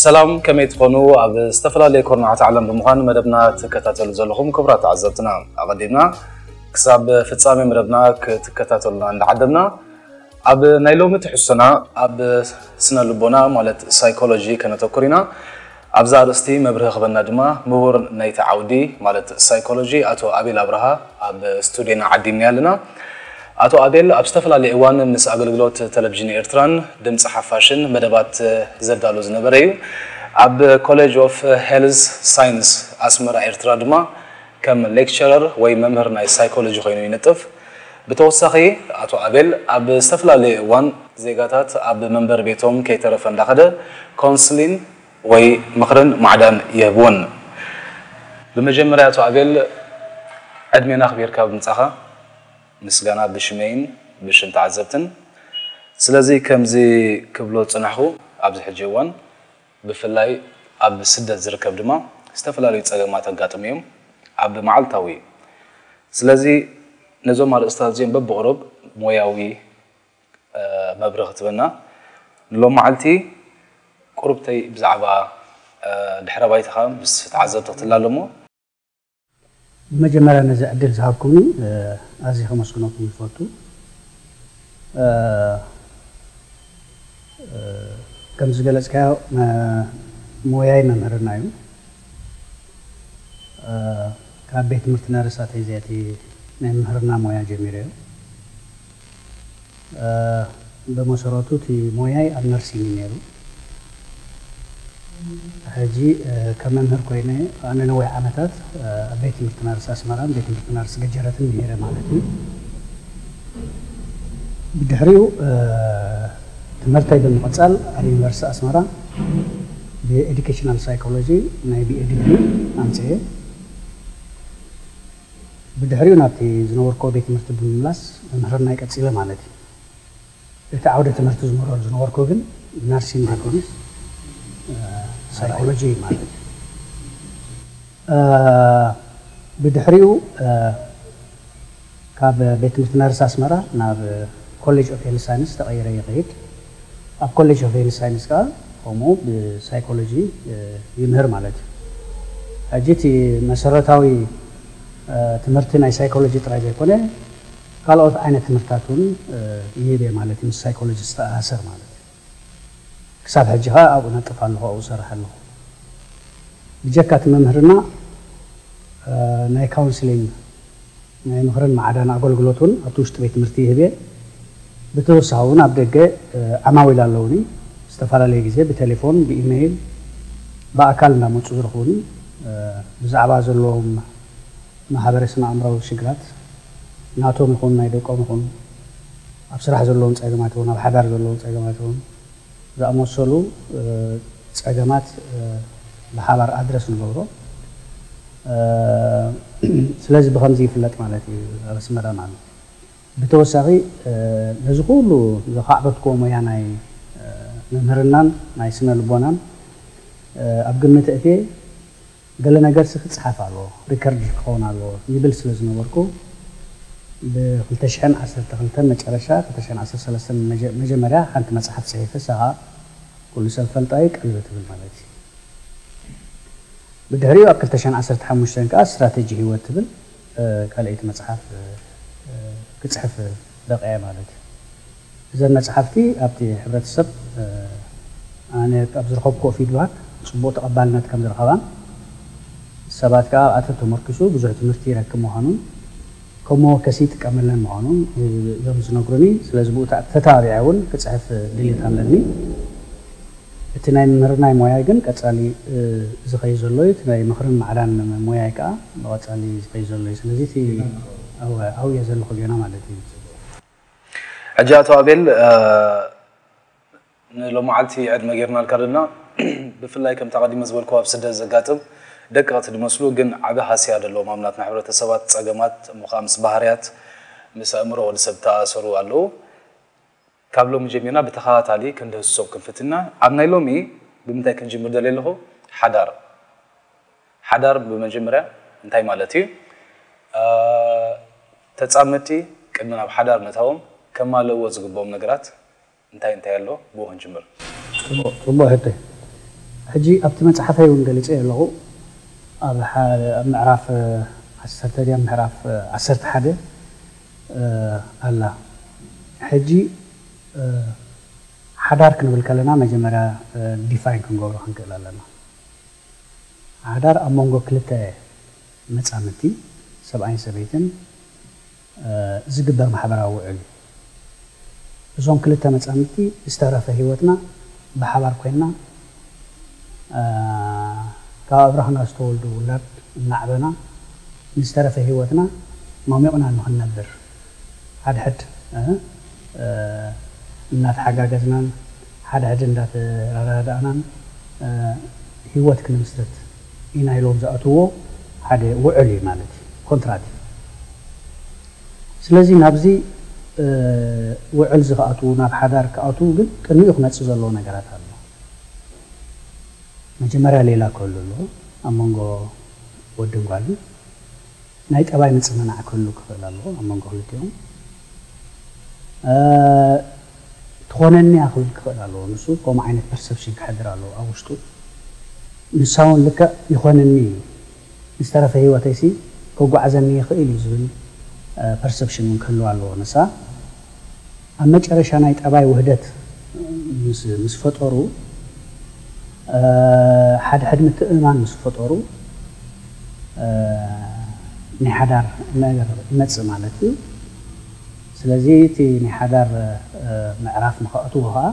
ሰላም፣ ከመይ ትኾኑ? ኣብ ዝተፈላለየ ኮርናዓት ዓለም ብምዃን መደብና ትከታተሉ ዘለኹም ክቡራት ተዓዘብትና፣ ኣቐዲምና ክሳብ ፍጻሜ መደብና ክትከታተሉና እንዳዓደምና፣ ኣብ ናይ ሎሚ ትሕዝቶና ኣብ ስነ ልቦና ማለት ሳይኮሎጂ ከነተኩር ኢና። ኣብዛ ኣርእስቲ መብርሂ ክበና ድማ ምሁር ናይቲ ዓውዲ ማለት ሳይኮሎጂ ኣቶ ኣቤል ኣብርሃ ኣብ ስቱዲዮና ዓዲምና ኣለና። ኣቶ ኣቤል ኣብ ዝተፈላለየ እዋን ምስ ኣገልግሎት ቴሌቪዥን ኤርትራን ድምፂ ሓፋሽን መደባት ዘዳሉ ዝነበረ እዩ። ኣብ ኮሌጅ ኦፍ ሄልዝ ሳይንስ ኣስመራ ኤርትራ ድማ ከም ሌክቸረር ወይ መምህር ናይ ሳይኮሎጂ ኮይኑ ይነጥፍ። ብተወሳኺ ኣቶ ኣቤል ኣብ ዝተፈላለየ እዋን ዜጋታት ኣብ መንበሪ ቤቶም ከይተረፈ እንዳኸደ ኮንስሊን ወይ ምኽርን ማዕዳን ይህብዎን። ብመጀመርያ ኣቶ ኣቤል ዕድሜና ኣኽቢርካ ብምጻኻ ምስጋና ብሽመይን ብሽም ተዓዘብትን። ስለዚ ከምዚ ክብሎ ዝጸናሕኩ ኣብዚ ሕጂ እዋን ብፍላይ ኣብ ስደት ዝርከብ ድማ ዝተፈላለዩ ጸገማት ኣጋጥሙ እዮም ኣብ መዓልታዊ። ስለዚ ነዞም ኣርእስታት እዚኦም በብቕሩብ ሞያዊ መብርህ ክትበና ንሎም መዓልቲ ቁሩብተይ ብዛዕባ ድሕረ ባይታኻ ምስ ተዓዘብቲ ክትላለሞ። ብመጀመርያ ነዚ ዕድል ዝሃብኩምኒ ኣዝየ ከመስግነኩም ይፈቱ። ከም ዝገለጽካዮ ሞያይ መምህርና እዩ። ካብ ቤት ትምህርቲ ነርሳተይ እዚኣቲ ናይ መምህርና ሞያ ጀሚረዮ። ብመሰረቱ እቲ ሞያይ ኣብ ነርሲንግ እዩ ነይሩ። ሕጂ ከም መምህር ኮይነ ኣነ ነዊሕ ዓመታት ኣብ ቤት ትምህርቲ ነርስ ኣስመራን ቤት ትምህርቲ ነርስ ገጀረትን ምሂረ ማለት እዩ። ብድሕሪኡ ትምህርተይ ብምቕጻል ኣብ ዩኒቨርሲቲ ኣስመራ ብኤዱኬሽናል ሳይኮሎጂ ናይ ቢኤ ዲግሪ ኣምፅኤ። ብድሕሪኡ ናብቲ ዝነበርኮ ቤት ትምህርቲ ብምምላስ ምምህርናይ ቀፂለ ማለት እዩ። እቲ ዓውደ ትምህርቲ ዝምህረሉ ዝነበርኩ ግን ናርሲንግ ዘይኮነስ ሳይኮሎጂ ማለት እዩ። ብድሕሪኡ ካብ ቤት ትምህርቲ ነርስ ኣስመራ ናብ ኮሌጅ ኦፍ ሄልት ሳይንስ ተቐይረ ይኸይድ። ኣብ ኮሌጅ ኦፍ ሄልት ሳይንስ ከዓ ከምኡ ብሳይኮሎጂ ይምህር ማለት እዩ። ሕጂ እቲ መሰረታዊ ትምህርቲ ናይ ሳይኮሎጂ ጥራይ ዘይኮነ ካልኦት ዓይነት ትምህርታት እውን ይህብ እየ ማለት እዩ፣ ምስ ሳይኮሎጂ ዝተኣሳሰር ማለት እዩ። ክሳብ ሕጂ ከዓ ኣብኡ ነጥፍ ኣለኹ፣ ኣብኡ እሰርሕ ኣለኹ። ብጀካ እቲ መምህርና ናይ ካውንስሊንግ ናይ ምኽርን ማዕዳን ኣገልግሎት እውን ኣብቲ ውሽጢ ቤት ትምህርቲ ይህብ እየ። ብተወሳኺ እውን ኣብ ደገ ዓማዊል ኣለውኒ። ዝተፈላለየ ግዜ ብቴሌፎን፣ ብኢሜይል፣ ብኣካል እንዳመፁ ዝረኽቡኒ ብዛዕባ ዘለዎም ማሕበረ ስነ ኣእምራዊ ሽግራት ናቶም ይኹን ናይ ደቆም ይኹን ኣብ ስራሕ ዘለዎም ፀገማት ይኹን ኣብ ሓዳር ዘለዎም ፀገማት ይኹን ዝኣመሰሉ ፀገማት ብሓባር ኣድረስ ንገብሮ። ስለዚ ብኸምዚ ይፍለጥ ማለት እዩ ኣብ ኣስመራ ማለት። ብተወሳኺ ነዚ ኩሉ ዘኻዕበትክዎ ሞያ ናይ ምምህርናን ናይ ስነ ልቦናን ኣብ ግምት እትየ ገለ ነገርሲ ክፅሓፍ ኣለዎ፣ ሪከርድ ክኸውን ኣለዎ ይብል ስለ ዝነበርኩ ብ ክልተ ሽሕን ዓሰርተ ክልተን መጨረሻ ክልተ ሽሕን ዓሰርተ ሰለስተን መጀመርያ ሓንቲ መፅሓፍ ፅሒፈ፣ እሳ ከዓ ኩሉ ሰብ ፈልጣ እዩ ቀልቢ ትብል ማለት እዩ። ብድሕሪኡ ኣብ ክልተ ሽሕን ዓሰርተ ሓሙሽተን ከዓ ስትራተጂ ህይወት ትብል ካልኣይቲ መፅሓፍ ክፅሕፍ በቂዐ ማለት እዩ። እዘን መፅሓፍቲ ኣብቲ ሕብረተሰብ ኣነ ኣብ ዝረኸብክዎ ፊድባክ ፅቡቕ ተቐባልነት ከም ዝረኸባን ሰባት ከዓ ኣብኣተን ተመርኪሱ ብዙሕ ትምህርቲ ይረክብ ምዃኑን ከም መወከሲ ይጥቀመለን ምዃኑን እዮም ዝነግሩኒ። ስለዚ ብኡ ተተባቢዐ እውን ክፅሕፍ ድሌት ኣለኒ። እቲ ናይ ምምህርናይ ሞያይ ግን ቀፃሊ ዝኸይ ዘሎ እዩ። እቲ ናይ ምኽርን ማዕዳን ሞያይ ከዓ ብቐፃሊ ዝኸይ ዘሎ እዩ። ስለዚ እቲ ኣብየ ዘለኹ ጌና ማለት እዩ። ሕጂ ኣቶ ኣቤል ንሎማዓልቲ ዕድመ ጌርናልካ ደልና ብፍላይ ከምቲ ኣቐዲመ ዝበልኩ ኣብ ስደት ዘጋጥም ደቀቕቲ ዝመስሉ ግን ዓቢ ሃስያ ዘለዎም ኣብ ናትና ሕብረተሰባት ጸገማት እሞ ከኣ ምስ ባህርያት ምስ ኣእምሮ ወዲ ሰብ ተኣሰሩ ኣለዉ። ካብ ሎሚ ጀሚርና ብተኸታታሊ ክንድህስሶም ክንፍትና ኣብ ናይ ሎሚ ብምንታይ ክንጅምር ደልየ ኣለኹ ሓዳር ሓዳር ብመጀመርያ እንታይ ማለት እዩ? ተጻመድቲ ቅድሚ ናብ ሓዳር ምእታዎም ከማልእዎ ዝግብኦም ነገራት እንታይ እንታይ ኣሎ? ብኡ ክንጅምር። ጽቡቕ ሕቶ። ሕጂ ኣብቲ መጽሓፈይ እውን ገሊጸ ኣለኹ። ኣብ ምዕራፍ ዓሰርተ ድያ ምዕራፍ ዓሰርተ ሓደ ኣላ። ሕጂ ሓዳር ክንብል ከለና መጀመርያ ዲፋይን ክንገብሮ ክንክእል ኣለና። ሓዳር ኣብ መንጎ ክልተ መጻምድቲ፣ ሰብኣይን ሰበይትን፣ ዝግበር ማሕበራዊ ውዕል እዩ። እዞም ክልተ መጻምድቲ ዝተረፈ ህይወትና ብሓባር ኮይንና ካብ ኣብራኽና ዝተወልዱ ውላድ እናዕበና ንዝተረፈ ህይወትና ሞሚቕና ንኽንነብር ሓድሕድ እናተሓጋገዝናን ሓድሕድ እንዳተረዳዳእናን ህይወት ክንምስርት ኢና ኢሎም ዝኣትዎ ሓደ ውዕል እዩ ማለት እዩ፣ ኮንትራት እዩ። ስለዚ ናብዚ ውዕል እዚ ክኣትዉ፣ ናብ ሓዳር ክኣትዉ ግን ቅድሚኡ ክመፅእ ዘለዎ ነገራት ኣሎ። መጀመርያ ሌላ ክህሉ ኣለዎ ኣብ መንጎ ወድን ጓልን። ናይ ጠባይ ምፅንናዕ ክህሉ ክኽእል ኣለዎ ኣብ መንጎ ክልቲኦም። ትኾነኒ እያ ክብል ክኽእል ኣለዎ። ንሱ ከምኡ ዓይነት ፐርሰፕሽን ክሕድር ኣለዎ ኣብ ውሽጡ። ንሳ እውን ልክዕ ይኾነኒ እዩ፣ ንዝተረፈ ህይወተይሲ ከጓዕዘኒ ይኽእል እዩ ዝብል ፐርሰፕሽን እውን ክህልዋ ኣለዎ ንሳ። ኣብ መጨረሻ ናይ ጠባይ ውህደት ምስ ፈጠሩ፣ ሓድሕድ ምትእምማን ምስ ፈጠሩ ናይ ሓዳር ነገር ይመፅእ ማለት እዩ። ስለዚ እቲ ናይ ሓዳር ምዕራፍ ንኸእትዎ ከዓ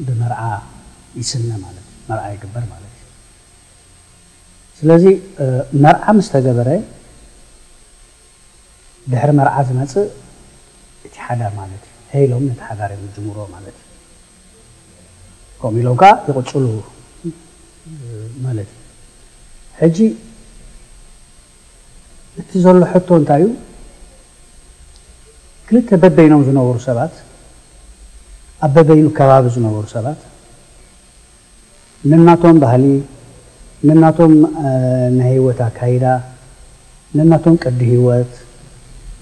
ብመርዓ ይስነ ማለት እዩ፣ መርዓ ይግበር ማለት እዩ። ስለዚ መርዓ ምስ ተገበረ ድሕሪ መርዓ ዝመፅእ እቲ ሓዳር ማለት እዩ። ሄ ኢሎም ነቲ ሓዳር እዮም ዝጅምርዎ ማለት እዩ። ከምኡ ኢሎም ከዓ ይቕፅሉ ማለት እዩ። ሕጂ እቲ ዘሎ ሕቶ እንታይ እዩ? ክልተ በበይኖም ዝነበሩ ሰባት፣ ኣብ በበይኑ ከባቢ ዝነበሩ ሰባት ነናቶም ባህሊ፣ ነናቶም ናይ ህይወት ኣካይዳ፣ ነናቶም ቅዲ ህይወት፣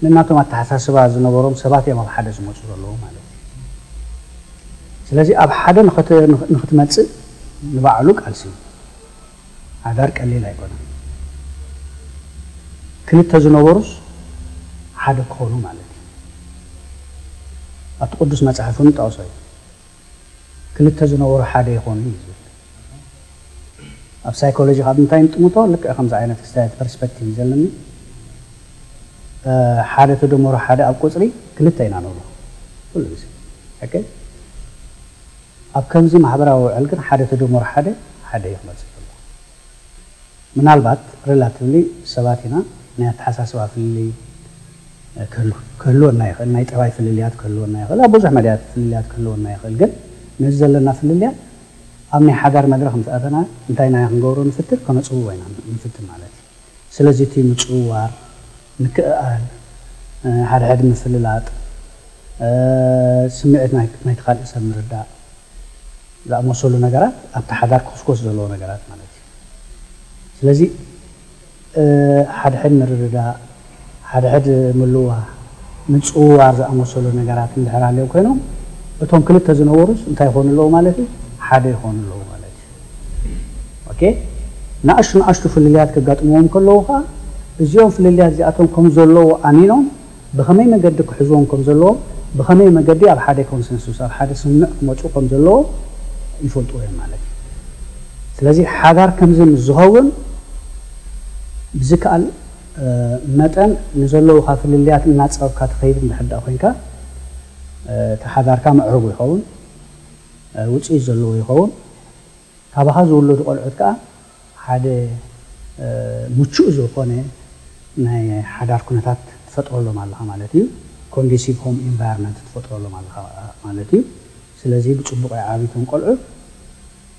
ነናቶም ኣተሓሳስባ ዝነበሮም ሰባት እዮም ኣብ ሓደ ዝመፁ ዘለዉ ማለት እዩ። ስለዚ ኣብ ሓደ ንኽትመፅእ ንባዕሉ ቃልሲ እዩ። ሓዳር ቀሊል ኣይኮነን። ክልተ ዝነበሩስ ሓደ ክኾኑ ማለት እዩ። ኣብቲ ቅዱስ መፅሓፍ እውን ጠቕሶ እዩ። ክልተ ዝነበሩ ሓደ ይኾኑ እዩ ዝብል። ኣብ ሳይኮሎጂ ካብ እንታይ ንጥምቶ ልክዕ ከምዚ ዓይነት ክስታያት ፐርስፔክቲቭ እዩ ዘለኒ። ሓደ ተደመሮ ሓደ ኣብ ቁፅሪ ክልተ ኢና ንብሎ ኩሉ ግዜ። ኦኬ፣ ኣብ ከምዚ ማሕበራዊ ውዕል ግን ሓደ ተደመሮ ሓደ ሓደ እዩ ክመፅእ ዘሎ። ምናልባት ሪላቲቭሊ ሰባት ኢና፣ ናይ ኣተሓሳስባ ፍልልይ ክህልወና ይኽእል፣ ናይ ጠባይ ፍልልያት ክህልወና ይኽእል፣ ኣብ ብዙሕ መዳያት ፍልልያት ክህልወና ይኽእል። ግን ነዚ ዘለና ፍልልያት ኣብ ናይ ሓዳር መድረኽ ምስ ኣተና እንታይ ኢና ክንገብሮ ንፍትን? ከነፅብቦ ኢና ንፍትን ማለት እዩ። ስለዚ እቲ ምፅውዋር፣ ምክእኣል፣ ሓድሕድ ምፍልላጥ፣ ስምዒት ናይቲ ካልእ ሰብ ምርዳእ ዝኣመሰሉ ነገራት ኣብቲ ሓዳር ክኹስኮስ ዘለዎ ነገራት ማለት እዩ። ስለዚ ሓድሕድ ምርድዳእ፣ ሓድሕድ ምልዋህ፣ ምፅውዋር ዝኣመሰሉ ነገራት እንድሕር ሃልዮም ኮይኖም እቶም ክልተ ዝነበሩስ እንታይ ይኾኑ ኣለዉ ማለት እዩ? ሓደ ይኾኑ ኣለዉ ማለት እዩ። ኦኬ፣ ንኣሽቱ ንኣሽቱ ፍልልያት ከጋጥምዎም ከለዉ ከዓ እዚኦም ፍልልያት እዚኣቶም ከም ዘለዉ ኣሚኖም ብኸመይ መገዲ ክሕዝዎም ከም ዘለዎ፣ ብኸመይ መገዲ ኣብ ሓደ ኮንሰንሱስ ኣብ ሓደ ስምምዕ ክመፁ ከም ዘለዎ ይፈልጥዎ እዮም ማለት እዩ። ስለዚ ሓዳር ከምዚ ምስ ዝኸውን ብዝከኣል መጠን ንዘለዉካ ፍልልያት እናፀብካ ትኸይድ እንድሕር ደኣ ኮይንካ እቲ ሓዳርካ ምዕሩግ ይኸውን፣ ውፅኢት ዘለዎ ይኸውን። ካባኻ ዝውለዱ ቆልዑት ከዓ ሓደ ምቹእ ዝኾነ ናይ ሓዳር ኩነታት ትፈጥረሎም ኣለኻ ማለት እዩ። ኮንዲሲቭ ሆም ኢንቫይሮንመንት ትፈጥረሎም ኣለኻ ማለት እዩ። ስለዚ ብፅቡቕ ይዓብዩ እቶም ቆልዑ፣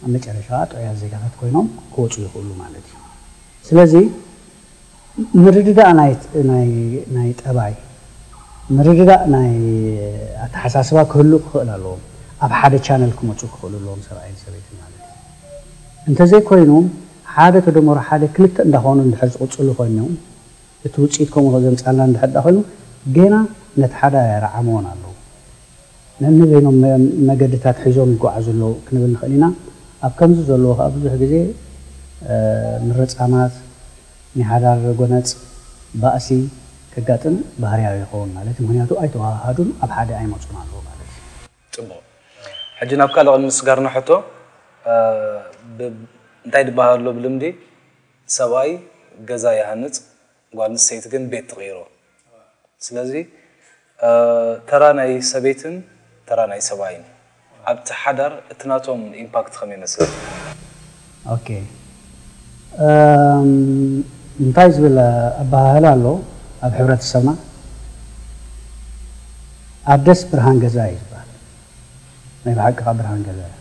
ኣብ መጨረሻ ጥዑያት ዜጋታት ኮይኖም ክወፁ ይኽእሉ ማለት እዩ። ስለዚ ምርድዳእ ናይ ጠባይ፣ ምርድዳእ ናይ ኣተሓሳስባ ክህሉ ክኽእል ኣለዎም። ኣብ ሓደ ቻነል ክመፁ ክኽእሉ ኣለዎም ሰብኣይን ሰበይትን ማለት እዩ። እንተዘይኮይኑ ሓደ ተደመሮ ሓደ ክልተ እንዳኾኑ እንድሕር ዝቕፅሉ ኮይኖም እቲ ውፅኢት ከምኡ ዘምፃልና እንድሕር ዳ ኮይኑ ገና ነቲ ሓደ ኣየረዓምዎን ኣለዉ። ነንበይኖም መገድታት ሒዞም ይጓዓዙ ኣለዉ ክንብል ንኽእል ኢና። ኣብ ከምዚ ዘለዎ ከዓ ብዙሕ ግዜ ምርፃማት፣ ናይ ሓዳር ጎነፅ፣ ባእሲ ከጋጥም ባህርያዊ ይኸውን ማለት እዩ። ምክንያቱ ኣይተዋሃሃዱን፣ ኣብ ሓደ ኣይመፁን ኣለዉ ማለት እዩ። ፅቡቕ። ሕጂ ናብ ካልእ ቅድሚ ስጋርና ሕቶ፣ እንታይ ዝበሃል ኣሎ ብልምዲ፣ ሰብኣይ ገዛ ይሃንፅ፣ ጓል ኣንስተይቲ ግን ቤት ትቕይሮ። ስለዚ ተራ ናይ ሰበይትን ተራ ናይ ሰብኣይን ኣብቲ ሓዳር እቲ ናቶም ኢምፓክት ከመይ ይመስል? ኦኬ፣ እንታይ ዝብል ኣበሃህላ ኣሎ ኣብ ሕብረተሰብና? ኣደስ ብርሃን ገዛ እዩ ዝበሃል። ናይ ብሓቂ ከዓ ብርሃን ገዛ እያ።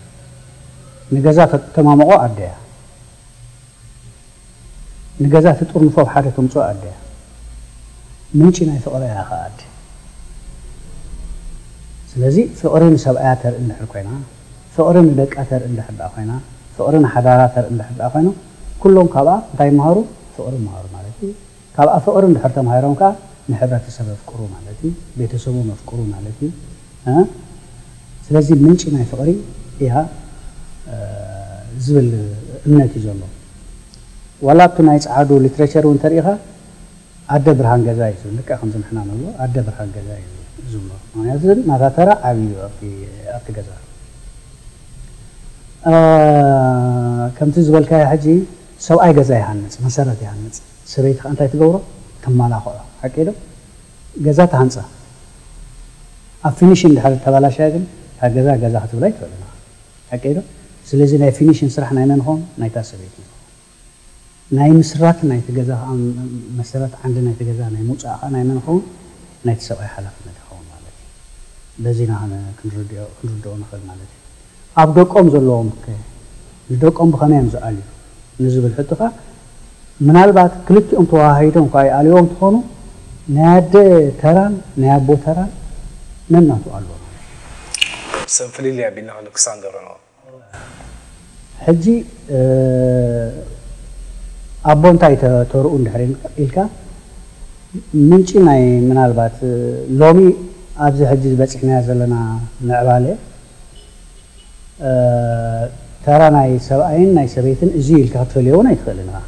ንገዛ ተማመቆ ኣደ እያ። ንገዛ ትጥርንፎ ኣብ ሓደ ተምፅኦ ኣደ እያ። ምንጪ ናይ ፍቕሪ እያ ከዓ ኣደ። ስለዚ ፍቕሪ ንሰብኣያ ተርኢ እንድሕር ኮይና፣ ፍቕሪ ንደቃ ተርኢ እንድሕር ደኣ ኮይና፣ ፍቕሪ ንሓዳራ ተርኢ እንድሕር ደኣ ኮይኖም፣ ኩሎም ካብኣ እንታይ ይመሃሩ? ፍቕሪ ይመሃሩ ማለት እዩ። ካብኣ ፍቕሪ እንድሕር ተማሂሮም ከዓ ንሕብረተሰብ ኣፍቅሩ ማለት እዩ፣ ቤተሰቦም ኣፍቅሩ ማለት እዩ። ስለዚ ምንጪ ናይ ፍቕሪ እያ ዝብል እምነት እዩ ዘሎ። ዋላ ኣብቲ ናይ ፃዓዱ ሊትሬቸር እውን ተሪኢኻ ኣደ ብርሃን ገዛ እዩ ዝብል። ልክዕ ከምዚ ንሕና ንብሎ ኣደ ብርሃን ገዛ እዩ ዝብሎ። ምክንያቱ ናታ ተራ ዓብዪ እዩ ኣብቲ ገዛ። ከምቲ ዝበልካዮ ሕጂ ሰብኣይ ገዛ ይሃንፅ፣ መሰረት ይሃንፅ። ሰበይቲ ከዓ እንታይ ትገብሮ? ተመላኽዖ። ሓቂ ዶ? ገዛ ትሃንፃ። ኣብ ፊኒሽን ድሕር ተባላሽያ ግን እታ ገዛ ገዛ ክትብላ ኣይትኽእልን ኢኻ። ሓቂ ዶ? ስለዚ ናይ ፊኒሽን ስራሕ ናይ መን ይኸውን? ናይታ ሰበይቲ ይኸውን። ናይ ምስራት ናይቲ ገዛ ከዓ መሰረት ዓንዲ ናይቲ ገዛ ናይ ምውፃእ ከዓ ናይ መን ይኸውን? ናይቲ ሰብኣይ ሓላፍነት ይኸውን ማለት እዩ። በዚ ኢና ክንርድኦ ንኽእል ማለት እዩ። ኣብ ደቆም ዘለዎም ከ ንደቆም ብኸመይ እዮም ዝኣልዩ ንዝብል ሕቶኻ ምናልባት ክልቲኦም ተዋሃሂዶም እኳ ይኣልይዎም እንትኾኑ ናይ ኣደ ተራን ናይ ኣቦ ተራን ነናቱ ኣሎ ማለት እዩ። ሰብ ፍልልይ ኣቢልና ክንክሳን ገብረ ነው። ሕጂ ኣቦ እንታይ ተርኡ እንድሕር ኢልካ ምንጪ ናይ ምናልባት ሎሚ ኣብዚ ሕጂ ዝበፂሕናዮ ዘለና ምዕባለ ተራ ናይ ሰብኣይን ናይ ሰበይትን እዚ ኢልካ ክትፈልዮ እውን ኣይትኽእልን ኢኻ።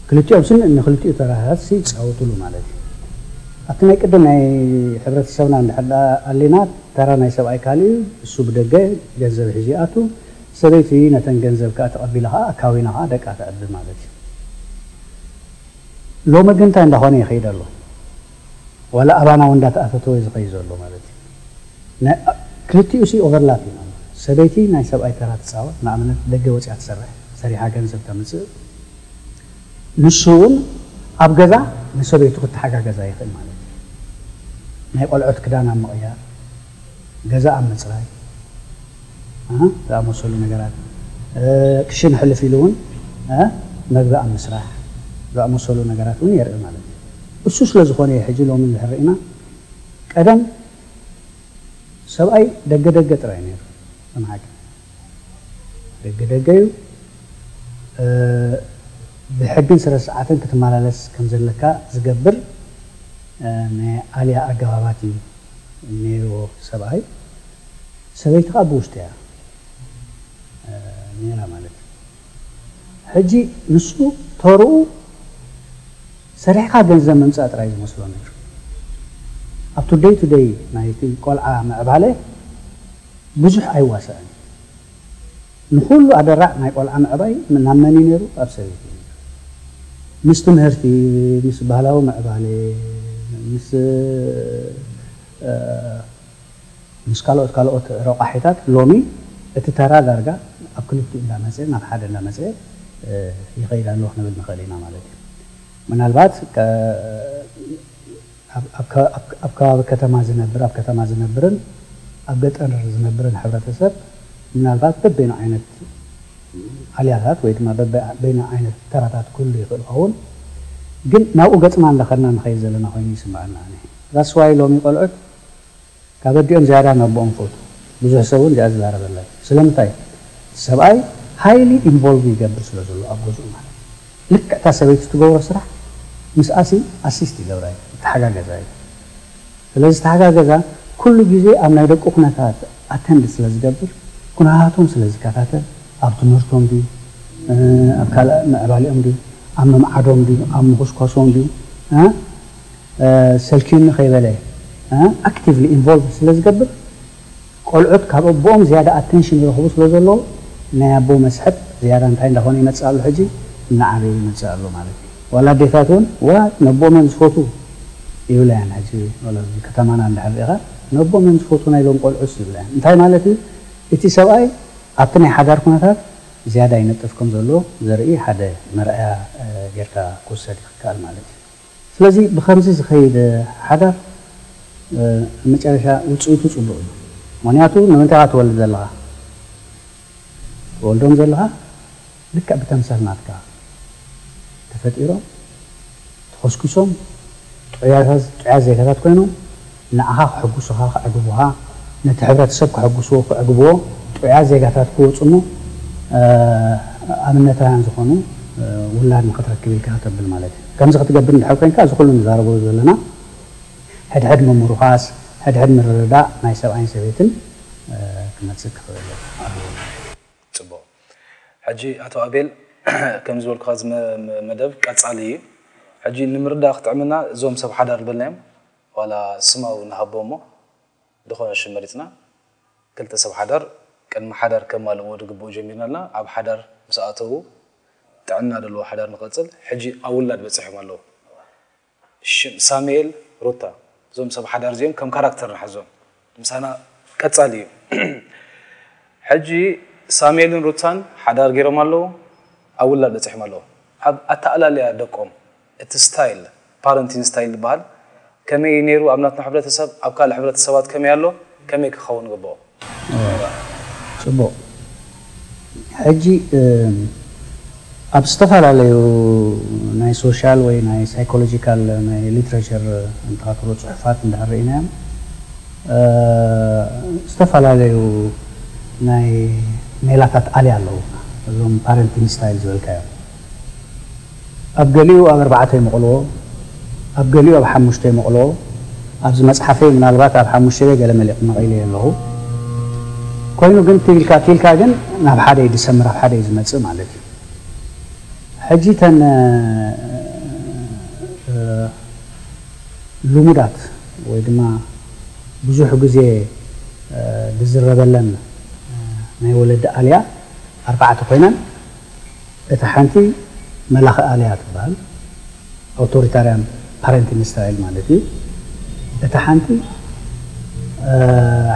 ክልቲኦም ስን ንክልቲኡ ተራታት ይፃወቱሉ ማለት እዩ። ኣብቲ ናይ ቅድም ናይ ሕብረተሰብና እንድሕር ኣሊና ተራ ናይ ሰብኣይ ካልእ እዩ። እሱ ብደገ ገንዘብ ሒዙ ይኣቱ፣ ሰበይቲ ነተን ገንዘብ ከዓ ተቐቢላ ከዓ ኣካዊና ከዓ ደቃ ተዕቢ ማለት እዩ። ሎሚ ግን እንታይ እንዳኾነ ይኸይድ ኣሎ? ዋላ ኣባና እውን እንዳተኣፈተወ ዝኸይድ ዘሎ ማለት እዩ። ክልቲኡ ሲ ኦቨርላፕ እዩ። ሰበይቲ ናይ ሰብኣይ ተራ ትፃወት፣ ንኣብነት ደገ ወፅያ ትሰርሕ፣ ሰሪሓ ገንዘብ ተምፅእ። ንሱ እውን ኣብ ገዛ ንሰበይቱ ክተሓጋገዛ ይኽእል ማለት እዩ። ናይ ቆልዑት ክዳን ኣብ ምቕያር፣ ገዛ ኣብ ምፅራይ ዝኣመሰሉ ነገራት፣ ክሽን ሕልፍ ኢሉ እውን መግቢ ኣብ ምስራሕ ዝኣመሰሉ ነገራት እውን የርኢ ማለት እዩ። እሱ ስለ ዝኾነ እዩ ሕጂ ሎሚ እንድሕር ርኢና ቀደም ሰብኣይ ደገ ደገ ጥራይ ነይሩ። ከም ሓቂ ደገ ደገ እዩ። ብሕግን ስነ ስርዓትን ክትመላለስ ከም ዘለካ ዝገብር ናይ ኣልያ ኣገባባት እዩ ነይርዎ ሰብኣይ። ሰበይቲ ከዓ ብውሽጢ እያ ነይራ ማለት እዩ። ሕጂ ንሱ ተርኡ ሰሪሕካ ገንዘብ ምምፃእ ጥራይ ዝመስሎ ነይሩ። ኣብቲ ደይ ቱ ደይ ናይቲ ቆልዓ ምዕባለ ብዙሕ ኣይዋሳእን። ንኹሉ ኣደራዕ ናይ ቆልዓ ምዕባይ ናብ መን እዩ ነይሩ? ኣብ ሰበይቲ እዩ ነይሩ። ምስ ትምህርቲ፣ ምስ ባህላዊ ምዕባለ፣ ምስ ምስ ካልኦት ካልኦት ረቋሒታት ሎሚ እቲ ተራ ዳርጋ ኣብ ክልቲኡ እንዳመፀ ናብ ሓደ እንዳመፀ ይኸይድ ኣሎ ክንብል ንኽእል ኢና ማለት እዩ። ምናልባት ኣብ ከባቢ ከተማ ዝነብር ኣብ ከተማ ዝነብርን ኣብ ገጠር ዝነብርን ሕብረተሰብ ምናልባት በበይኑ ዓይነት ኣልያታት ወይ ድማ በበይኑ ዓይነት ተራታት ክህሉ ይኽእል ይኸውን፣ ግን ናብኡ ገፅና እንዳኸድና ንኸይድ ዘለና ኮይኑ ይስምዐና። ዛስዋይ ሎሚ ቆልዑት ካብ ኣዲኦም ዝያዳ ናቦኦም ፈቱ። ብዙሕ ሰብ እውን እዚኣ ዝዛረበላ እዩ። ስለምንታይ? ሰብኣይ ሃይሊ ኢንቮልቭ ይገብር ስለ ዘሎ ኣብ ገዝኡ ማለት እዩ። ልክዕ እታ ሰበይቲ ትገብሮ ስራሕ ምስኣሲ ኣሲስት ይገብራ እዩ፣ ተሓጋገዛ እዩ። ስለዚ ተሓጋገዛ ኩሉ ግዜ ኣብ ናይ ደቁ ኩነታት ኣተንድ ስለ ዝገብር፣ ኩነታቶም ስለ ዝከታተል፣ ኣብ ትምህርቶም ድዩ፣ ኣብ ካልእ ምዕባሊኦም ድዩ፣ ኣብ ምምዓዶም ድዩ፣ ኣብ ምኹስኳሶም ድዩ፣ ሰልክዩኒ ከይበለ ኣክቲቭሊ ኢንቮልቭ ስለ ዝገብር፣ ቆልዑት ካብ ኣቦኦም ዝያዳ ኣቴንሽን ይረኽቡ ስለ ዘለዉ፣ ናይ ኣቦ መስሕብ ዝያዳ እንታይ እንዳኾነ ይመጽእ ኣሎ? ሕጂ እናዓበየ ይመጽእ ኣሎ ማለት እዩ። ዋላ ኣዴታት እውን፣ ዋ፣ ነቦኦም እዮም ዝፈትዉ ይብላ እየን። ሕጂ ዋላ ኣብዚ ከተማና እንድሕር ርኢኻ፣ ነቦኦም እዮም ዝፈትዉ ናይ ሎም ቆልዑስ ይብላ እየን። እንታይ ማለት እዩ? እቲ ሰብኣይ ኣብቲ ናይ ሓዳር ኩነታት ዝያዳ ይነጥፍ ከም ዘሎ ዘርኢ ሓደ መርኣያ ጌርካ ክውሰድ ይከኣል ማለት እዩ። ስለዚ ብኸምዚ ዝኸይድ ሓዳር መጨረሻ ውፅኢቱ ፅቡቕ እዩ። ምክንያቱ ንምንታይ ኢኻ ትወልድ ዘለኻ? ትወልዶም ዘለኻ ልክዕ ብተምሳል ናትካ ተፈጢሮም፣ ተኾስኩሶም፣ ጥዑያት ዜጋታት ኮይኖም ንዓኻ ክሕጉሱኻ፣ ከዕግቡኻ፣ ነቲ ሕብረተሰብ ከሐጉስዎ፣ ከዕግብዎ፣ ጥዑያት ዜጋታት ክወፁ እሞ ኣብነታውያን ዝኾኑ ውላድ ንኽትረክብ ኢልካ ተብል ማለት እዩ። ከምዚ ክትገብር እንድሕር ኮይንካ፣ እዚ ኩሉ ንዛረቦ ዘለና ሕድሕድ ምምርኳስ፣ ሕድሕድ ምርድዳእ ናይ ሰብኣይን ሰበይትን ክመፅእ ክኽእል ኣለዎ። ፅቡቕ። ሕጂ ኣቶ ኣቤል፣ ከም ዝበልኩኻ፣ እዚ መደብ ቀፃሊ እዩ። ሕጂ ንምርዳእ ክጥዕምና፣ እዞም ሰብ ሓዳር ዝበልናዮም ዋላ ስም ንሃቦ እሞ፣ ዝኾነ ሽም መሪፅና፣ ክልተ ሰብ ሓዳር ቅድሚ ሓዳር ከማልእዎ ዝግብኡ ጀሚርና ኣለና። ኣብ ሓዳር ምስ ኣተዉ፣ ጥዕና ዘለዎ ሓዳር ንቐፅል። ሕጂ ኣብ ውላድ በፂሖም ኣለዉ። ሽም ሳሙኤል፣ ሩታ፣ እዞም ሰብ ሓዳር እዚኦም ከም ካራክተር ንሓዞም። ምሳና ቀፃሊ እዩ። ሕጂ ሳሙኤልን ሩታን ሓዳር ገይሮም ኣለዉ፣ ኣብ ውላድ በፂሖም ኣለዉ። ኣብ ኣተኣላልያ ደቆም፣ እቲ ስታይል፣ ፓረንቲንግ ስታይል ዝበሃል ከመይ ነይሩ ኣብ ናትና ሕብረተሰብ፣ ኣብ ካልእ ሕብረተሰባት ከመይ ኣሎ፣ ከመይ ክኸውን ግብኦ? ፅቡቕ። ሕጂ ኣብ ዝተፈላለዩ ናይ ሶሻል ወይ ናይ ሳይኮሎጂካል ናይ ሊትሬቸር እንተኻትሎ ፅሑፋት እንድሕር ርኢናዮም፣ ዝተፈላለዩ ናይ ሜላታት ኣልያ ኣለዉ። እዞም ፓረንቲንግ ስታይል ዝበልካዮም፣ ኣብ ገሊኡ ኣብ ኣርባዕተ ይመቕልዎ፣ ኣብ ገሊኡ ኣብ ሓሙሽተ ይመቕልዎ። ኣብዚ መፅሓፈይ ምናልባት ኣብ ሓሙሽተ ገለ መሊቕ መቒለ ኣለኹ። ኮይኑ ግን ትብልካ ትብልካ ግን ናብ ሓደ እዩ ዝሰምር፣ ኣብ ሓደ እዩ ዝመፅእ ማለት እዩ። ሕጂ ተን ልሙዳት ወይ ድማ ብዙሕ ግዜ ዝዝረበለን ናይ ወለዲ ኣልያ ኣርባዕተ ኮይነን፣ እታ ሓንቲ መላኺ ኣልያ ትበሃል፣ ኣውቶሪታርያን ፓረንቲንግ ስታይል ማለት እዩ። እታ ሓንቲ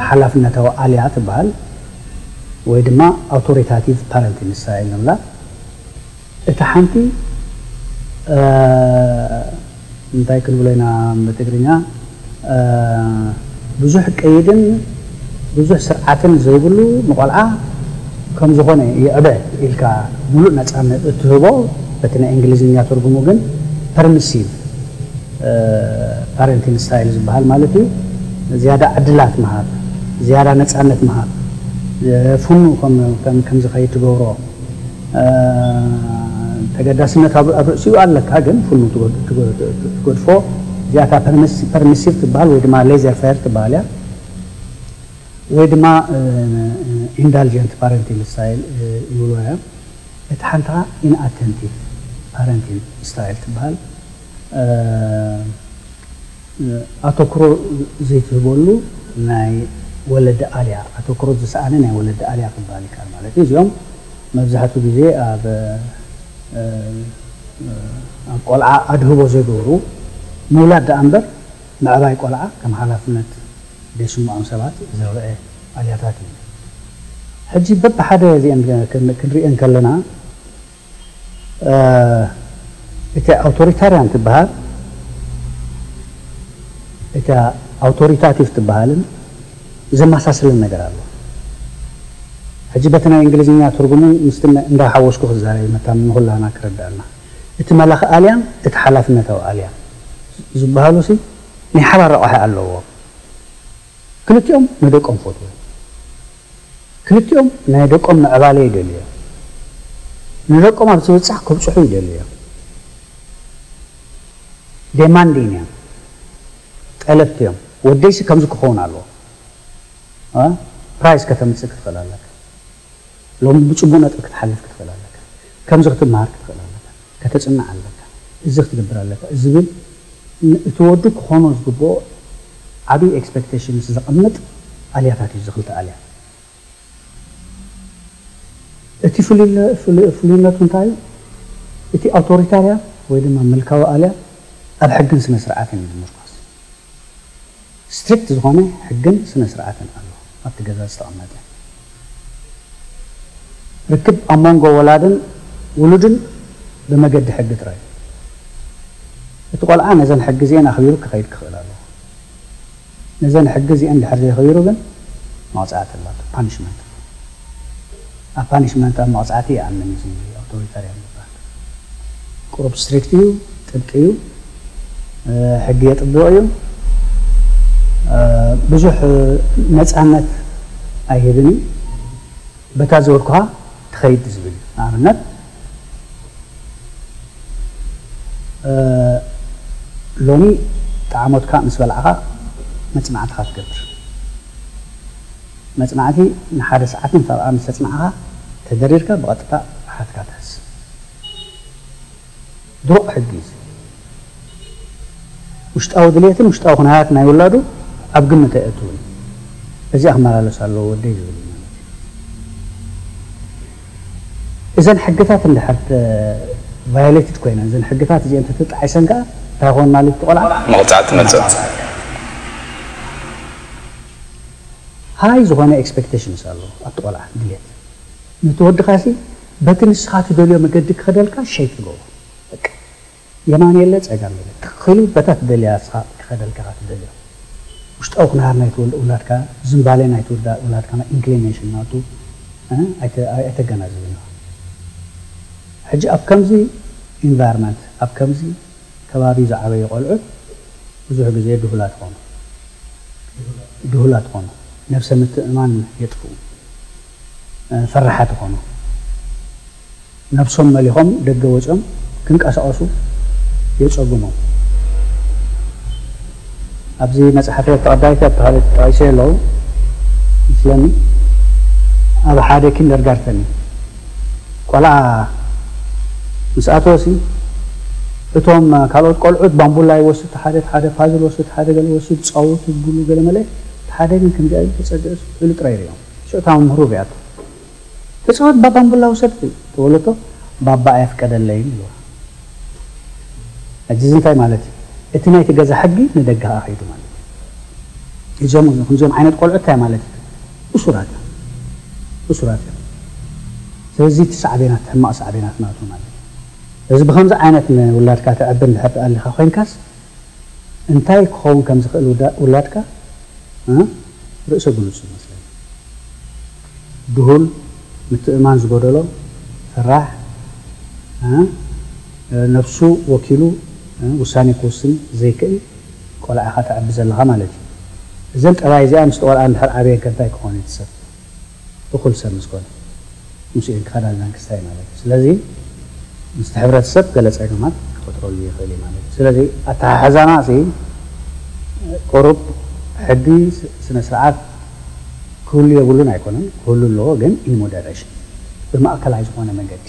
ሓላፍነታዊ ኣልያ ትበሃል ወይ ድማ ኣውቶሪታቲቭ ፓረንቲንግ ስታይል ንብላ። እታ ሓንቲ እንታይ ክንብሎ ኢና ብትግርኛ፣ ብዙሕ ቀይድን ብዙሕ ስርዓትን ዘይብሉ፣ ንቆልዓ ከም ዝኾነ ይዕበ ኢልካ ሙሉእ ነፃነት እትህቦ፣ በቲ ናይ እንግሊዝኛ ትርጉሙ ግን ፐርሚሲቭ ፓረንቲንግ ስታይል ዝበሃል ማለት እዩ። ዝያዳ ዕድላት ምሃብ፣ ዝያዳ ነፃነት ምሃብ፣ ፍኑ ከም ዝኸይድ ትገብሮ፣ ተገዳስነት ኣብ ርእሲኡ ኣለካ፣ ግን ፍኑ ትገድፎ። እዚኣታ ፐርሚሲቭ ትበሃል ወይ ድማ ሌዘር ፌር ትበሃል እያ፣ ወይ ድማ ኢንዳልጀንት ፓረንቲንግ ስታይል ይብሎ እዮም። እቲ ሓንታ ኢንኣቴንቲቭ ፓረንቲንግ ስታይል ትበሃል። ኣተኩሮ ዘይትህበሉ ናይ ወለዲ ኣልያ፣ ኣተኩሮ ዝሰኣነ ናይ ወለዲ ኣልያ ክበሃል ይከኣል ማለት እዩ። እዚኦም መብዛሕትኡ ግዜ ኣብ ኣብ ቆልዓ ኣድህቦ ዘይገብሩ፣ ምውላድ ደኣ እምበር ምዕባይ ቆልዓ ከም ሓላፍነት ዘይስምዖም ሰባት ዝረአ ኣልያታት እዩ። ሕጂ በብሓደ እዚአን ክንሪአን ከለና እቲ ኣውቶሪታርያን ትበሃል፣ እታ ኣውቶሪታቲቭ ትበሃልን ዘመሳስለን ነገር ኣሎ። ሕጂ በቲ ናይ እንግሊዝኛ ትርጉሙ ምስቲ እንዳሓወስኩ ክዛረብ መታን ንኹላና ክረዳእና። እቲ መላኺ ኣልያን እቲ ሓላፍነታዊ ኣልያን ዝበሃሉ ሲ ናይ ሓባር ረቋሒ ኣለዎ። ክልቲኦም ንደቆም ፈትዎም። ክልቲኦም ናይ ደቆም ምዕባለ ይደልዩ እዮም። ንደቆም ኣብ ዝብጻሕ ክብጽሑ ይደልዩ እዮም። ዴማንዲን እዮም። ጠለብቲ እዮም። ወደይሲ ከምዚ ክኸውን ኣለዎ። ፕራይስ ከተምጽእ ክትኽእል ኣለካ። ሎሚ ብፅቡቅ ነጥቢ ክትሓልፍ ክትኽእል ኣለካ። ከምዚ ክትመሃር ክትኽእል ኣለካ። ከተፅንዕ ኣለካ። እዚ ክትገብር ኣለካ ዝብል እቲ ወዱ ክኾኖ ዝግብኦ ዓብዪ ኤክስፔክቴሽንስ ዘቐምጥ ኣልያታት እዩ። ዝኽልተ ኣልያ እቲ ፍሉይነቱ እንታይ እዩ? እቲ ኣውቶሪታርያን ወይ ድማ ምልካዊ ኣልያ ኣብ ሕግን ስነ ስርዓትን እዩ ዝምርኮስ። ስትሪክት ዝኾነ ሕግን ስነ ስርዓትን ኣሎ ኣብቲ ገዛ ዝተቐመጠ። ርክብ ኣብ መንጎ ወላድን ውሉድን ብመገዲ ሕጊ ጥራይ። እቲ ቆልዓ ነዘን ሕጊ እዚአን ኣኽቢሩ ክኸይድ ክኽእል ኣለዎ። ነዘን ሕጊ እዚአን ድሕር ዘይኸቢሩ ግን መቕፃዕቲ ኣላቶ፣ ፓኒሽመንት። ኣብ ፓኒሽመንት ኣብ መቕፃዕቲ ይኣምን እዩ። ኣውቶሪታርያን ይበሃል። ቁሩብ ስትሪክት እዩ፣ ጥብቂ እዩ፣ ሕጊ የጥብቕ እዩ። ብዙሕ ነፃነት ኣይህብን እዩ። በታ ዝበልኩኻ ትኸይድ ዝብል እዩ። ንኣብነት ሎሚ ጣዕሞትካ ምስ በላዕኻ መፅናዕትኻ ትገብር። መፅናዕቲ ንሓደ ሰዓትን ሰብኣ ምስ ተፅናዕኻ ተደሪርካ ብቐጥታ ብሓትካ ትሕዝ። ድሩቕ ሕጊ እዩ። ውሽጣዊ ድሌትን ውሽጣዊ ኩነታት ናይ ውላዱ ኣብ ግምት ኣየእትውን። እዚ ኣክመላለስ ኣለዎ ወደይ ዝብል እዩ ማለት እዩ። እዘን ሕግታት እንድሕር ቫዮሌትድ ኮይነን፣ እዘን ሕግታት እዚአን ተተጣዒሰን ከዓ እንታይ ኾን ማለት እዩ? ቆልዓ መቕፃዕቲ መፅእ። ሃይ ዝኾነ ኤክስፔክቴሽንስ ኣለዎ ኣብቲ ቆልዓ ድሌት። ነቲ ወድኻ ሲ በቲ ንስኻ ትደልዮ መገዲ ክኸደልካ ሸይፕ ትገብሮ። በቃ የማን የለ ጸጋም የለ። ትኽክሉ በታ ትደልያ ንስኻ ክኸደልካ ትደልዮ። ውሽጣዊ ኩነታት ናይ ትወልድ ውላድካ፣ ዝንባሌ ናይ ትወልዳ ውላድካ፣ ናይ ኢንክሊኔሽን ናቱ፣ እ፣ ኣይተ-፣ ኣይተገናዝብን ኢኻ። ሕጂ ኣብ ከምዚ ኢንቫይሮንመንት፣ ኣብ ከምዚ ከባቢ ዝዓበዩ ቆልዑት ብዙሕ ግዜ ድሁላት ኾኑ። ድሁላት ኾኑ። ነብሰ ምትእምማን የጥፍኡ። እ፣ ፈራሓት ኾኑ። ነብሶም መሊኾም ደገ ወፂኦም ክንቀሳቐሱ የፀግሞም። ኣብዚ መፅሓፈይ ተቐዳይት ኣብ ተኻለ ተጠቒሰ ኣለዉ ምስለኒ ኣብ ሓደ ኪንደርጋርተን እዩ። ቆልዓ ምስ ኣተወሲ እቶም ካልኦት ቆልዑት ባምቡላ ይወስድ፣ ሓደ ሓደ ፓዝል ወስድ፣ ሓደ ገለ ወስድ፣ ፃወቱ ብሉ ገለ መለ፣ ሓደ ግን ከምዚኣ ኢሉ ተፀግዕስ ኢሉ ጥራይ ይሪኦም። ሽዑ እታ መምህሩ ሪኣቶ። ተፃወት ባባምቡላ ውሰድ ትበለቶ፣ ባባ ኣየፍቀደለይን ኢልዋ። ሕጂ እዚ እንታይ ማለት እዩ? እቲ ናይቲ ገዛ ሕጊ ንደገ ከኣ ከይዱ ማለት እዩ። እዞም፣ ከምዚኦም ዓይነት ቆልዑ እንታይ ማለት እዩ? እሱራት እዮም። እሱራት እዮም። ስለዚ እቲ ሳዕቤናት፣ ሕማቕ ሳዕቤናት ናቱ ማለት እዩ። እዚ ብኸምዚ ዓይነት ንውላድካ ተዕቢ እንድሕር ተኣሊኻ ኮይንካስ፣ እንታይ ክኸውን ከም ዝኽእል ውዳ-፣ ውላድካ፣ እ፣ ርእሰ ግሉጽ ይመስለኒ። ድሁል፣ ምትእማን ዝጎደሎ፣ ፈራሕ፣ እ፣ ነብሱ ወኪሉ፣ እ፣ ውሳኔ ክውስን ዘይክእል ቆልዓ ኢኻ ተዕቢ ዘለኻ ማለት እዩ። እዘን ጠባይ እዚኣ ምስቲ ቆልዓ እንድሕር ዓብየን ከ እንታይ ክኾን እዩ እቲ ሰብ? እኹል ሰብ ምስ ኮነ፣ ምስኡ ክኸዳ ዝዛን ክስታይ ማለት እዩ። ስለዚ ምስቲ ሕብረተሰብ ገለ ጸገማት ክፈጥረሉ ይኽእል እዩ ማለት እዩ። ስለዚ ኣተሓሕዛና ሲ ቁሩብ ሕጊ፣ ስ-፣ ስነ ስርዓት ክህሉ የብሉን ኣይኮነን፣ ክህሉ ኣለዎ፣ ግን ኢን ሞደሬሽን፣ ብማእከላይ ዝኾነ መንገዲ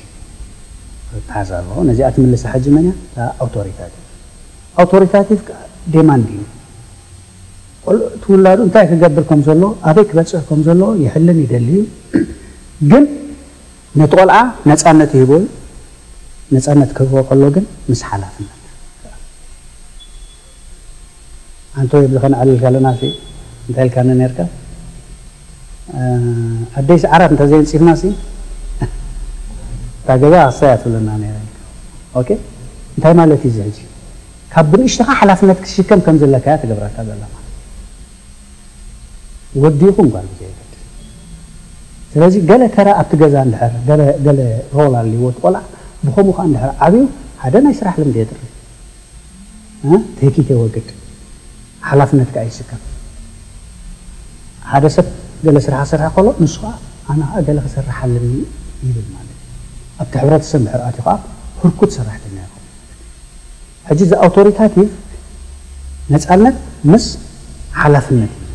ክተሓዝ ኣለዎ። ነዚኣ ትምልሳ ሕጂ መን እያ? እታ ኣውቶሪታቲቭ። ኣውቶሪታቲቭ ከኣ ዴማንድ እዩ። ቆልዑ ትውላዱ እንታይ ክገብር ከም ዘሎ፣ ኣበይ ክበጽሕ ከም ዘሎ ይሕልን ይደሊ እዩ። ግን ነቲ ቆልዓ ነጻነት ይህቦ እዩ። ነጻነት ክህቦ ከሎ ግን ምስ ሓላፍነት። ኣንተ ወይ ብልኸ ንዕልል ከለና ሲ እንታይ ኢልካኒ ነርካ? እ፣ ኣደይ ሰዓራት እንተ ዘየንጺፍና ሲ እታ ገዛ ክሳይ እያ ትብለና ነይራ። ኦኬ፣ እንታይ ማለት እዩ እዚ ሕጂ? ካብ ብንእሽተኻ ሓላፍነት ክትሽከም ከም ዘለካ እያ ትገብረካ ዘላ ማለት እዩ። ወዲ ይኹን ጓል ብዘየገድስ። ስለዚ ገለ ተራ ኣብቲ ገዛ እንድሕር፣ ገለ፣ ገለ ሮል ኣልዎ እቲ ቆልዓ፣ ብኸምኡ ኸዓ እንድሕር ዓብዩ፣ ሓደ ናይ ስራሕ ልምዲ የጥሪ። እ? ትህኪት የወግድ። ሓላፍነት ከኣ ይስከም። ሓደ ሰብ ገለ ስራሕ ክሰርሕ ከሎ፣ ንሱ ኸዓ ኣነ ኸዓ ገለ ክሰርሕ ኣለኒ ይብል ማለት እዩ። ኣብቲ ሕብረተሰብ እንድሕር ኣትዩ ኸዓ ህርኩት ሰራሕተኛ ይኸውን። ሕጂ እዚ ኣውቶሪታቲቭ ነጻነት ምስ ሓላፍነት እዩ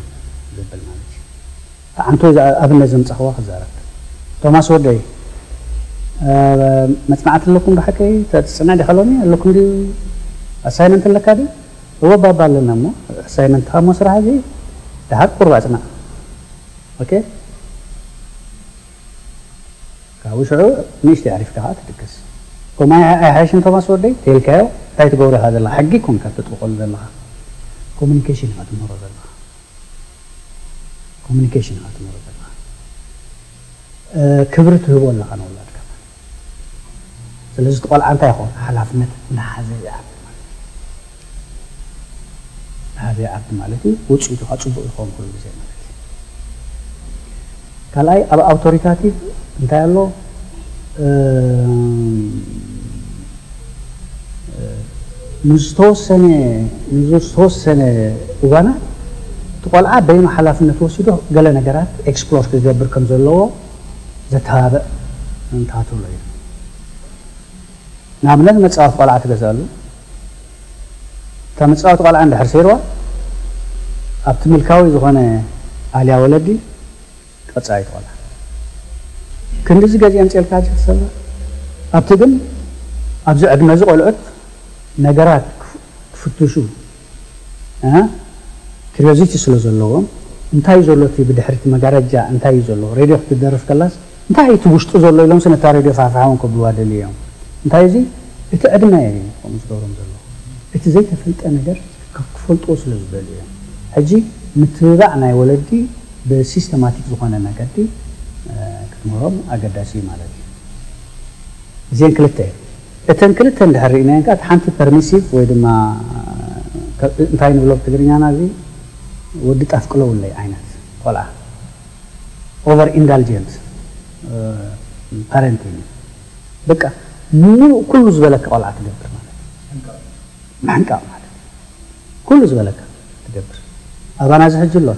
ዘብል ማለት እዩ። ተዓንቶ እዚ ኣብነት ዘምጻኽዋ ክዛረብ። ቶማስ ወደይ፣ መፅናዕቲ ኣለኩም? ብሓቂ ተፅንዕ ዲኻ ሎሚ? ኣለኩም ድዩ? ኣሳይመንት ኣለካ ድዩ? እወ፣ ባባ ኣለና። እሞ ኣሳይመንትኻ እሞ ስራሕ እዚ ደሓር ቁርብ ኣፅናዕ። ኦኬ፣ ካብኡ ሽዑ ንእሽተይ ኣዕሪፍካ ከዓ ትድቅስ። ከምኡ ኣይሓይሽን ቶማስ ወደይ? ተይልካዮ እንታይ ትገብሮ ኢኻ ዘለኻ? ሕጊ ኮንካ ተጥብቐሉ ዘለኻ፣ ኮሙኒኬሽን ኢኻ ትምህሮ ዘለኻ። ኮሙኒኬሽን ኢኻ ትምህሮ ዘለኻ። ክብሪ ትህቦ ኣለኻ ንውላድካ። ስለዚ እቲ ቆልዓ እንታይ ይኸውን? ሓላፍነት እናሓዘ ይዓቢ ማለት እዩ። እናሓዘ ይዓቢ ማለት እዩ። ውፅኢቱ ከዓ ፅቡቕ ይኸውን ኩሉ ግዜ ማለት እዩ። ካልኣይ፣ ኣብ ኣውቶሪታቲቭ እንታይ ኣሎ? ንዝተወሰነ ንዝተወሰነ እዋናት እቲ ቆልዓ በይኑ ሓላፍነት ወሲዱ ገለ ነገራት ኤክስፕሎር ክገብር ከም ዘለዎ ዘተባብዕ እንታትብሎ እዩ። ንኣብነት፣ መፃወቲ ቆልዓ ትገዛሉ። እታ መፃወቲ ቆልዓ እንድሕር ሰይርዋ፣ ኣብቲ ምልካዊ ዝኾነ ኣልያ ወለዲ ቀፃይ ቆልዓ ክንድዚ ገዚኦም ፅልካ ጀት ሰባ ኣብቲ ግን ኣብዚ ዕድመ እዚ ቆልዑት ነገራት ክፍ- ክፍትሹ እ? ክሪዮዚቲ ስለ ዘለዎም፣ እንታይ እዩ ዘሎ እቲ ብድሕሪቲ መጋረጃ እንታይ እዩ ዘሎ? ሬድዮ ክትደርፍ ከላስ እንታይ እዩ እቲ ውሽጡ ዘሎ ኢሎም ስነታ ሬድዮ ፋሕፋሕውን ከብልዋ ደልዩ እዮም። እንታይ እዚ እቲ ዕድመ እዩ ከምኡ ዝገብሮም ዘሎ። እቲ ዘይተፈልጠ ነገር ክፈልጥዎ ስለ ዝደልዩ እዮም። ሕጂ ምትብባዕ ናይ ወለዲ ብሲስተማቲክ ዝኾነ መገዲ ክትምህሮም ኣገዳሲ እዩ ማለት እዩ። እዚአን ክልተ እየን። እተን ክልተ እንድሕር ርኢናየን ከኣ ሓንቲ ፐርሚሲቭ ወይ ድማ እንታይ ንብሎ ብትግርኛና እዚ ወዲ ጣፍ ቅለውለይ ዓይነት ቆልዓ ኦቨር ኢንዳልጀንት ፓረንቲንግ በቃ ምሉእ ኩሉ ዝበለካ ቆልዓ ትገብር ማለት እዩ። ምሕንቃቕ ማለት ኩሉ ዝበለካ ትገብር። ኣባና እዚ ሕጂ ኣሎ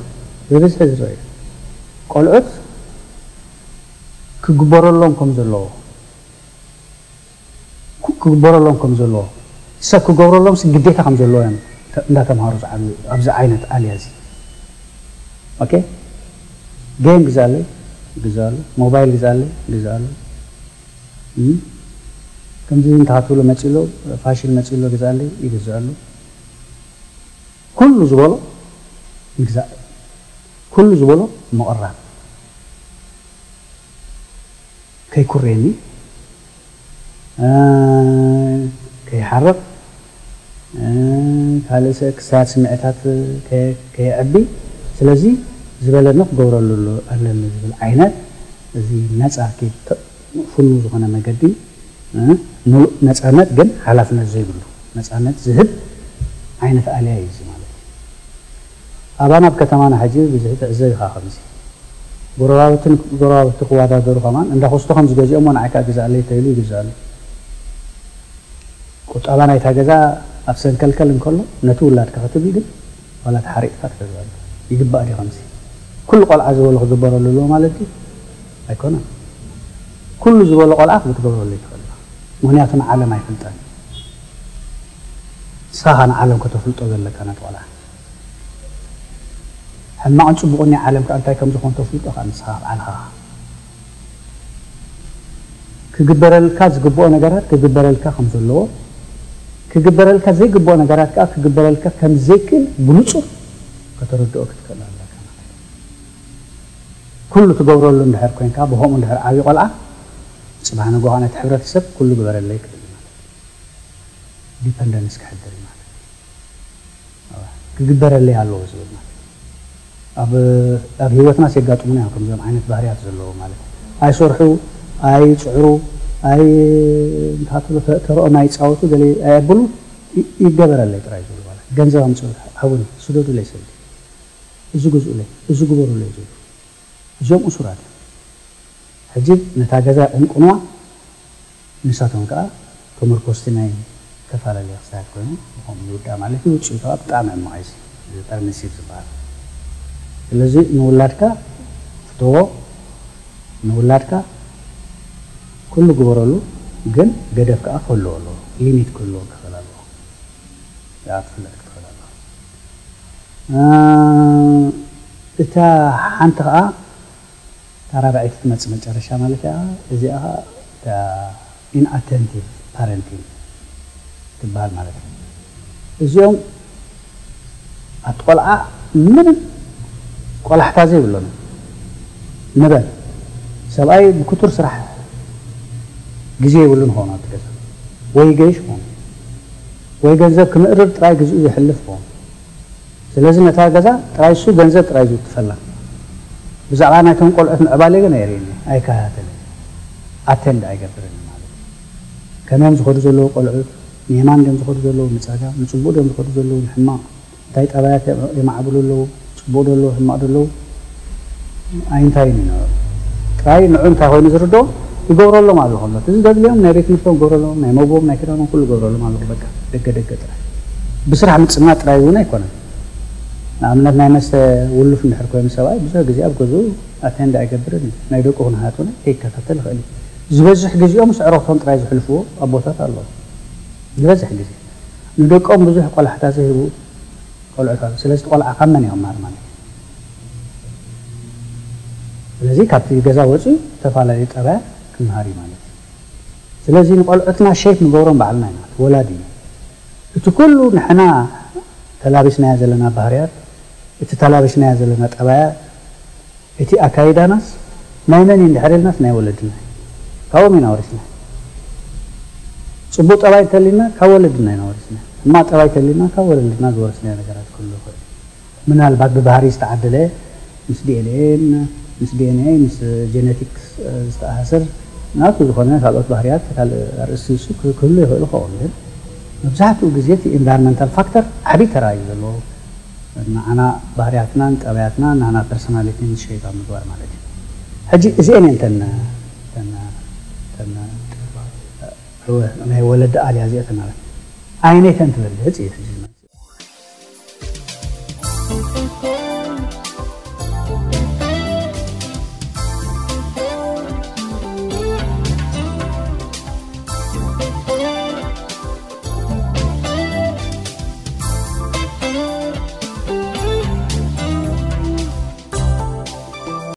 ብብዝሒ ዝረአ እዩ። ቆልዑት ክግበረሎም ከም ዘለዎ ክግበረሎም ከም ዘለዎ ሰብ ክገብረሎም ግዴታ ከም ዘለዎ እዮም እንዳተምሃሩ ዝዓብዩ ኣብዚ ዓይነት ኣልያ እዚ። ኦኬ፣ ጌም ግዛለይ ግዛሉ፣ ሞባይል ግዛለይ ግዛሉ፣ ከምዚ እንተሃትብሎ መፂሎ ፋሽን መፂሎ ግዛለይ ይግዛሉ። ኩሉ ዝበሎ ምግዛእ፣ ኩሉ ዝበሎ ምቕራብ፣ ከይኩርየኒ፣ ከይሓርቕ፣ ካልእ ክሳያት ስምዒታት ከየዕቢ፣ ስለዚ ዝበለኒ ክገብረሉ ኣለኒ ዝብል ዓይነት እዚ ነፃ ኪድ ፍኑ ዝኾነ መገዲ ምሉእ ነፃነት ግን ሓላፍነት ዘይብሉ ነፃነት ዝህብ ዓይነት ኣልያ እዩ እዚ ማለት እዩ። ኣባና ኣብ ከተማና ሕጂ ብዝሒ ትዕዘብ ኢኻ ከምዚ ጎረባብትን ጎረባብቲ ክወዳደሩ ከማን እንዳ ኮስቶ ከምዚ ገዚኦሞ ንዓይ ከዓ ግዛኣለይ ተይሉ ይግዛሉ። ቁጠባ ናይታ ገዛ ኣብ ሰንከልከል እንከሎ ነቲ ውላድካ ክትብል ግን ዋላ ተሓሪቕካ ትገዝኣሉ። ይግባእ ድዩ ከምዚ? ኩሉ ቆልዓ ዝበሎ ክግበረሉ ኣለዎ ማለት ድዩ? ኣይኮነን። ኩሉ ዝበሎ ቆልዓ ክትገብረሉ ይትኽእል ኢኻ። ምኽንያቱ ንዓለም ኣይፈልጣን። ንስኻ ንዓለም ከተፍልጦ ዘለካ ነቲ ቆልዓ። ሕማቕን ፅቡቕን ናይ ዓለም ከዓ እንታይ ከም ዝኾን ተፍልጦ ከዓ ንስኻ ባዕልኻ። ክግበረልካ ዝግብኦ ነገራት ክግበረልካ ከም ዘለዎ፣ ክግበረልካ ዘይግብኦ ነገራት ከዓ ክግበረልካ ከም ዘይክእል ብንፁር ከተረድኦ ክትክእል ኣለካ ማለት እዩ። ኩሉ ትገብረሉ እንድሕር ኮይንካ፣ ብኸምኡ እንድሕር ዓብዩ ቆልዓ፣ ፅባሕ ንግሆ ነቲ ሕብረተሰብ ኩሉ ግበረለይ ክብል እዩ ማለት እዩ። ዲፐንደንስ ክሕድር እዩ ማለት እዩ። ክግበረለይ ኣለዎ ዝብል ማለት እዩ። ኣብ ኣብ ህይወትናስ የጋጥሙና እዮም ከምዚኦም ዓይነት ባህርያት ዘለዎ ማለት እዩ። ኣይሰርሑ፣ ኣይፅዕሩ፣ ኣይ እንታትሎ ተረኦም ኣይፃወቱ ገለ ኣየብሉ ይ- ይገበረለይ ጥራይ ዝብሉ ማለት እዩ። ገንዘብ ኣምፅኡ ሃቡኒ ስደዱለይ ስልዲ እዚ ግዝኡለይ እዚ ግበሩለይ ዝብሉ እዚኦም እሱራት እዮም። ሕጂ ነታ ገዛ ይቕንቅንዋ ንሳቶም ከዓ ተመርኮስቲ ናይ ዝተፈላለየ ክስታት ኮይኖም ብኸምኡ ይውዳእ ማለት እዩ። ውፅኢቱ ከዓ ብጣዕሚ ሕማቕ እዩ እዚ ፐርሚሲቭ ዝበሃል። ስለዚ ንውላድካ ፍተዎ፣ ንውላድካ ኩሉ ግበረሉ፣ ግን ገደብ ከዓ ክህልዎ ኣለዎ፣ ሊሚት ክህልዎ ክኽእል ኣለዎ። እዚኣ ክትፍለጥ ክትኽእል ኣለዋ። እታ ሓንቲ ከዓ ኣራባዒት ትመጽእ መጨረሻ ማለት እያ። እዚኣ ከዓ inattentive parenting ትበሃል ማለት እዩ። እዚኦም ኣቲ ቆልዓ ምንም ቆላሕታ ዘይብሎም ንበል፣ ሰብኣይ ብክቱር ስራሕ ግዜ የብሉን ኾኑ ኣብቲ ገዛ፣ ወይ ገይሽ ኾኑ ወይ ገንዘብ ክምእርር ጥራይ ግዜኡ ዘሕልፍ ኾኑ። ስለዚ ነታ ገዛ ጥራይ እሱ ገንዘብ ጥራይ ዝውትፈላ፣ ብዛዕባ ናይቶም ቆልዑት ምዕባለ ግን ኣየርእየኒ፣ ኣይከታተልን፣ ኣቴንድ ኣይገብርን ማለት እዩ። ከመይ እዮም ዝኸዱ ዘለዉ ቆልዑት፣ ንየማን ድዮም ዝኸዱ ዘለዉ ንፀጋም፣ ንፅቡቕ ድዮም ዝኸዱ ዘለዉ ንሕማቕ፣ እንታይ ጠባያት የማዕብሉ ኣለዉ፣ ፅቡቕ ዶ ኣለዉ ሕማቕ ዶ ኣለዉ ኣይንታይን እዩ ነበሩ። ጥራይ ንዑ እንታይ ኮይኑ ዝርድኦ ይገብረሎም ኣሎ ከሎ፣ እዚ ዘድልዮም ናይ ቤት ትምህርቶም ይገብረሎም፣ ናይ መግቦም ናይ ክዳኖም ኩሉ ይገብረሎም ኣለኹ። በቃ ደገ ደገ ጥራይ ብስራሕ ምፅማድ ጥራይ እውን ኣይኮነን። ንኣብነት ናይ መስተ ውሉፍ እንድሕር ኮይኑ ሰብኣይ ብዙሕ ግዜ ኣብ ገዝኡ ኣቴንድ ኣይገብርን እዩ። ናይ ደቁ ኩነታት እውን ከይከታተል ይኽእል እዩ። ዝበዝሕ ግዜኦም ምስ ዕረኽቶም ጥራይ ዝሕልፍዎ ኣቦታት ኣለዉ። ዝበዝሕ ግዜ ንደቆም ብዙሕ ቆላሕታ ዘይህቡ ቆልዑት ኣለዉ። ስለዚ እቲ ቆልዓ ካብ መን ይቕማር ማለት እዩ። ስለዚ ካብቲ ገዛ ወፂኡ ዝተፈላለዩ ጠባያት ክምሃር እዩ ማለት እዩ። ስለዚ ንቆልዑትና ሼፕ ንገብሮም ባዕልና ኢና፣ ወላዲ እዩ። እቲ ኩሉ ንሕና ተላቢስናዮ ዘለና ባህርያት፣ እቲ ተላቢስናዮ ዘለና ጠባያት፣ እቲ ኣካይዳናስ ናይ መን እዩ እንድሕር ኢልናስ ናይ ወለድና እዩ። ካብኦም ኢና ወሪስና። ፅቡቕ ጠባይ እንተሊና ካብ ወለድና ኢና ወሪስና። ሕማቕ ጠባይ እንተሊና ካብ ወለድና ዝወረስናዮ ነገራት ክህሉ ይኽእል። ምናልባት ብባህሪ ዝተዓደለ ምስ ዲኤንኤ ምስ ዲኤንኤ ምስ ጄኔቲክስ ዝተኣሳሰር ናቱ ዝኾነ ካልኦት ባህርያት ካልእ ኣርእስቲ ንሱ ክህሉ ይኽእል ይኸውን፣ ግን መብዛሕትኡ ግዜ እቲ ኢንቫይሮንመንታል ፋክተር ዓብዪ ተራ እዩ ዘለዎ። ንዓና ባህርያትናን ጠባያትናን ናና ፐርሶናሊቲ ሼፕ ኣብ ምግባር ማለት እዩ። ሕጂ እዚአን እየን ተን ተን ተን ናይ ወለዲ ኣልያ እዚአተን ማለት ኣይነተን ትበልዕ ህፅ እዩ ሕጂ